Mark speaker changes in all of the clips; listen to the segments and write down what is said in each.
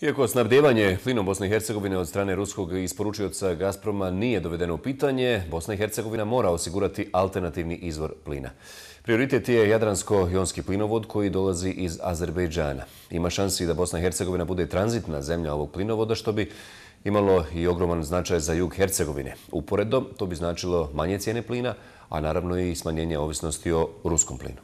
Speaker 1: Iako snabdijevanje plinom Bosne i Hercegovine od strane ruskog isporučioca Gazproma nije dovedeno u pitanje, Bosna i Hercegovina mora osigurati alternativni izvor plina. Prioritet je Jadransko-jonski plinovod koji dolazi iz Azerbejdžana. Ima šansi da Bosna i Hercegovina bude tranzitna zemlja ovog plinovoda, što bi imalo i ogroman značaj za jug Hercegovine. Uporedo, to bi značilo manje cijene plina, a naravno i smanjenje ovisnosti o ruskom plinu.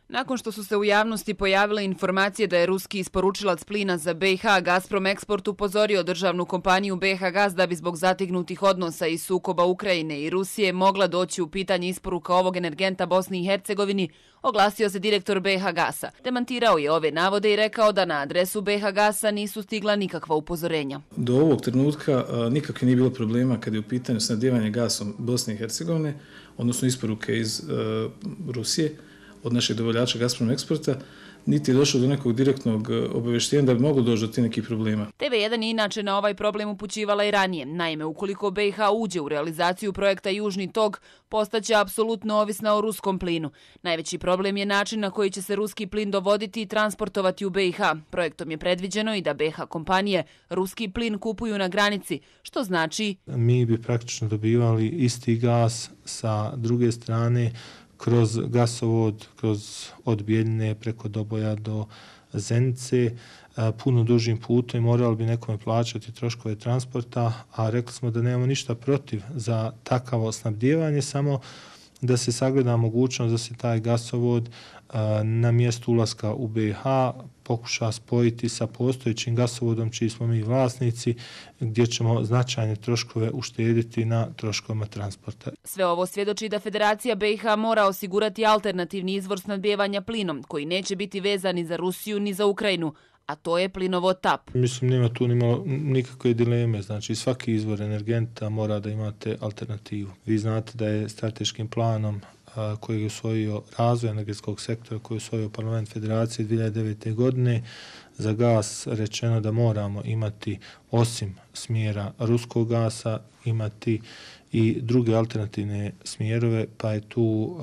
Speaker 2: Nakon što su se u javnosti pojavile informacije da je ruski isporučilac plina za BiH Gazprom Eksport upozorio državnu kompaniju BiH Gaz da bi zbog zategnutih odnosa i sukoba Ukrajine i Rusije mogla doći u pitanje isporuka ovog energenta Bosni i Hercegovini, oglasio se direktor BiH Gasa. Demantirao je ove navode i rekao da na adresu BiH Gasa nisu stigla nikakva upozorenja.
Speaker 3: Do ovog trenutka nikakve nije bilo problema kad je u pitanju snabdijevanje gasom Bosne i Hercegovine, odnosno isporuke iz Rusije od našeg dobavljača Gazprom Eksporta, niti je došlo do nekog direktnog obavještenja da bi moglo doći do tih nekih problema.
Speaker 2: TV1 je inače na ovaj problem upućivala i ranije. Naime, ukoliko BiH uđe u realizaciju projekta Južni tok, postaće apsolutno ovisna o ruskom plinu. Najveći problem je način na koji će se ruski plin dovoditi i transportovati u BiH. Projektom je predviđeno i da BiH kompanije ruski plin kupuju na granici, što znači...
Speaker 4: Mi bi praktično dobivali isti gas sa druge strane, kroz gasovod, od Bijeljine preko Doboja do Zenice, puno dužim putem, morali bi nekome plaćati troškove transporta, a rekli smo da nemamo ništa protiv za takavo snabdijevanje, samo da se sagleda mogućnost da se taj gasovod na mjestu ulaska u BiH pokuša spojiti sa postojećim gasovodom čiji smo mi vlasnici, gdje ćemo značajne troškove uštediti na troškovima transporta.
Speaker 2: Sve ovo svjedoči da Federacija BiH mora osigurati alternativni izvor snabdijevanja plinom, koji neće biti vezan ni za Rusiju ni za Ukrajinu, a to je plinovod TAP.
Speaker 4: Mislim, nema tu nikakve dileme, znači svaki izvor energenta mora da imate alternativu. Vi znate da je strateškim planom koji je usvojio razvoj energetskog sektora, koji je usvojio Parlament Federacije 2009. godine, za gas rečeno da moramo imati, osim smjera ruskog gasa, imati i druge alternativne smjerove, pa je tu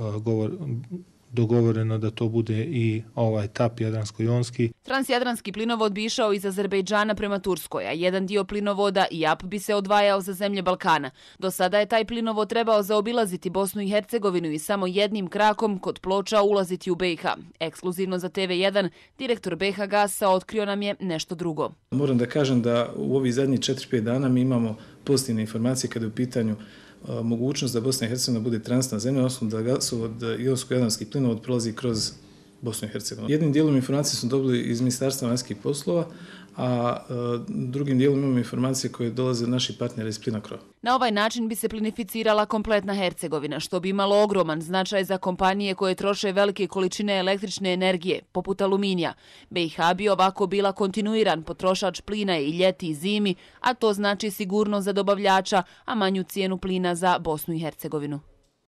Speaker 4: dogovoreno da to bude i ovaj TAP Jadransko-jonski.
Speaker 2: Transjadranski plinovod bi išao iz Azerbejdžana prema Turskoj, a jedan dio plinovoda IAP bi se odvajao za zemlje Balkana. Do sada je taj plinovod trebao zaobilaziti Bosnu i Hercegovinu i samo jednim krakom kod Ploča ulaziti u BiH. Ekskluzivno za TV1, direktor BiH Gasa otkrio nam je nešto drugo.
Speaker 3: Moram da kažem da u ovih zadnjih 4-5 dana mi imamo pozitivne informacije kada je u pitanju mogućnost da Bosna i Hercegovina bude tranzitna zemlja, odnosno da gasovod Jonsko-jadranski plinovod prolazi kroz Bosnu i Hercegovinu. Jednim dijelom informacije smo dobili iz Ministarstva vanjskih poslova, a drugim dijelom imamo informacije koje dolaze od naših partnera iz Plinacro.
Speaker 2: Na ovaj način bi se plinificirala kompletna Hercegovina, što bi imalo ogroman značaj za kompanije koje troše velike količine električne energije, poput aluminija. BiH bi ovako bila kontinuiran potrošač plina i ljeti i zimi, a to znači sigurnost za dobavljača, a manju cijenu plina za Bosnu i Hercegovinu.